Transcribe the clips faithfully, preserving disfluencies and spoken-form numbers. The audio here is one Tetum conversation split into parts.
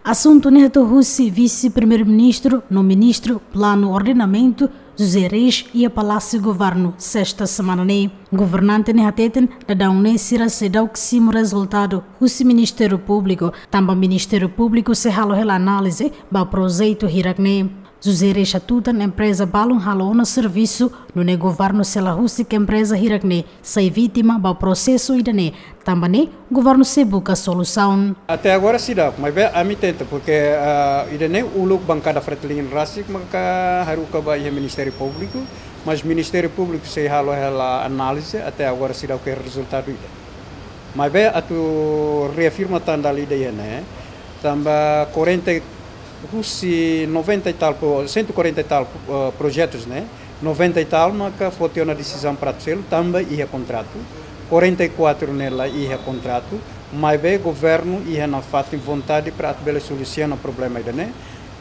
Asuntu ne'e hato'o husi Vise-Primeiru-Ministru no Ministru Planu Ordenamentu, José Reis, iha Palásiu Governu, sesta semana ne'e. Governante ne'e hateten, daudaun ne'e sira seidauk simu rezultadu husi Ministériu Públiku, tanba Ministériu Públiku sei halo hela análize ba projetu hirak ne'e. José Reis hatutan empreza balun halo ona servisu, nune'e governu sei la husik empreza hirak ne'e sai vítima ba prosesu ida-ne'e, tanba ne'e governu sei buka solusaun. Até agora seidauk, maibé ami tenta, porque, ah, ida-ne'e uluk bankada Fretilin rasik maka haruka ba iha Ministériu Públiku, mas Ministériu Públiku sei halo hela análize, até agora seidauk iha rezultadu ida. Maibé atu reafirma tan dala ida iha ne'e, tanba quarenta, husi noventa e tal, pro-, cento e quarenta e tal, eh, projetus ne'e, noventa e tal maka foti ona desizaun para atu selu, tanba iha kontratu, quarenta e quatro ne'e la iha kontratu, maibé governu iha nafatin vontade para atu bele solusiona problema ida-ne'e,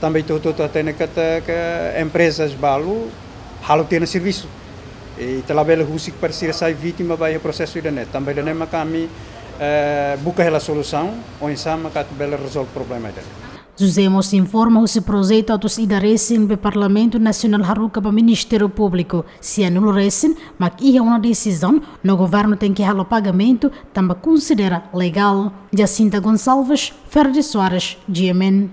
tanba ita hotu-hotu hatene katak emprezas balu halo tiha ona servisu. I ita labele husik para sira sai vítima ba iha prosesu ida-ne'e. Tanba ida-ne'e maka ami, eh, buka hela solusaun, oinsá maka atu bele rezolve problema ida-ne'e. José mós informa husi projetu atus ida resin be Parlamentu Nasionál haruka ba Ministériu Públiku, sianulu resin, mak iha ona desizaun, no governu tenke halo pagamentu, tanba konsidera legál. Jacinta Gonçalves, Ferdi Soares, G M N.